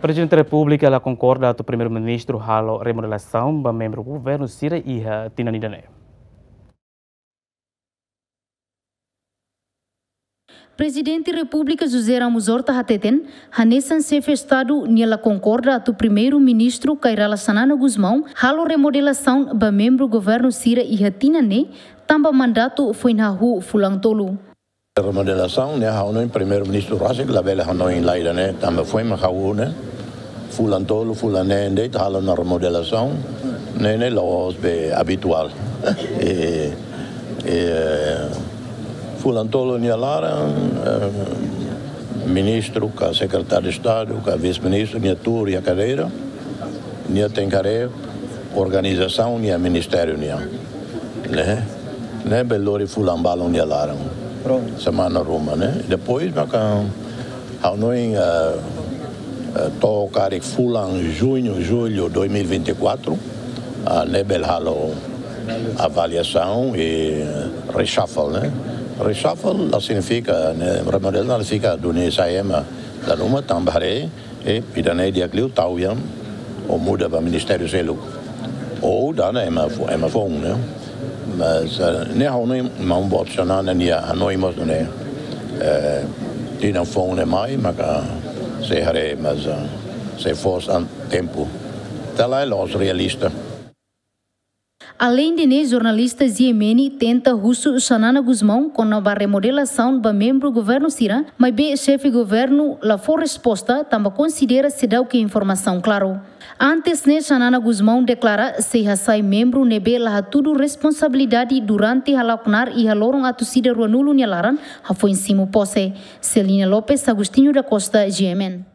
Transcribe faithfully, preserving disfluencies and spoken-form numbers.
Prezidente Repúblika la konkorda atu Primeiru-Ministru halo remodelasaun ba membru governu sira iha tinan ida-ne'e. Prezidente Repúblika José Ramos Horta hateten, hanesan Xefe Estadu nia la konkorda atu Primeiru-Ministru Kay Rala Xanana Gusmão halo remodelasaun ba membru governu sira iha tinan ne'e, tanba mandatu foin hahú fulan tolu. Remodelasaun ne'e ha'u hanoin Primeiru-Ministru rasik labele hanoin lai ida-ne'e, tanba foin mak hahú ne'e, fulan tolu, fulan neen de'it halo ona remodelasaun, ne'e ne'e la'ós be abituál. E, e, fulan tolu nia laran, eh, ministru ka sekretáriu Estadu ka vise-ministru nia tuur iha kadeira, nia tenke haree organizasaun nia ministériu nian. Ne'e, ne'e bele lori fulan balun nia laran. Pronto. Semana ruma, ne'e. Depois maka ha'u hanoin, eh, eh, to'o karik fulan juñu, jullu dois mil e vinte e quatro, ah, ne'e bele halo avaliasaun i reshuffle, ne'e. Reshuffle la signifika, ne'e, remodelasaun la signifika duni sai ema dala ruma, tanba haree, e ida-ne'e di'ak liu tau iha, ou muda ba ministériu seluk. Ou dada ema fo-, ema foun, ne'e. Mas, eh, ne'e ha'u hanoin maun boot Xanana nia hanoin mós ne'e. Eh, tinan foun ne'e mai, maka sei haree, mas, eh, sei fó an tempu. Ita la'ós realista. Aleinde ne'e, jornalista G M N tenta husu Xanana Gusmão kona-ba remodelasaun ba membru governu sira, maibé xefe governu la fó resposta, tanba konsidera seidauk iha informasaun klaru. Antes ne'e, Xanana Gusmão deklara sei hasai membru ne'ebé la hatudu responsabilidade durante hala'o knaar iha loron atus ida ruanulu nia laran, hafoin simu pose. Celina Lopes, Agostinho da Costa, G M N.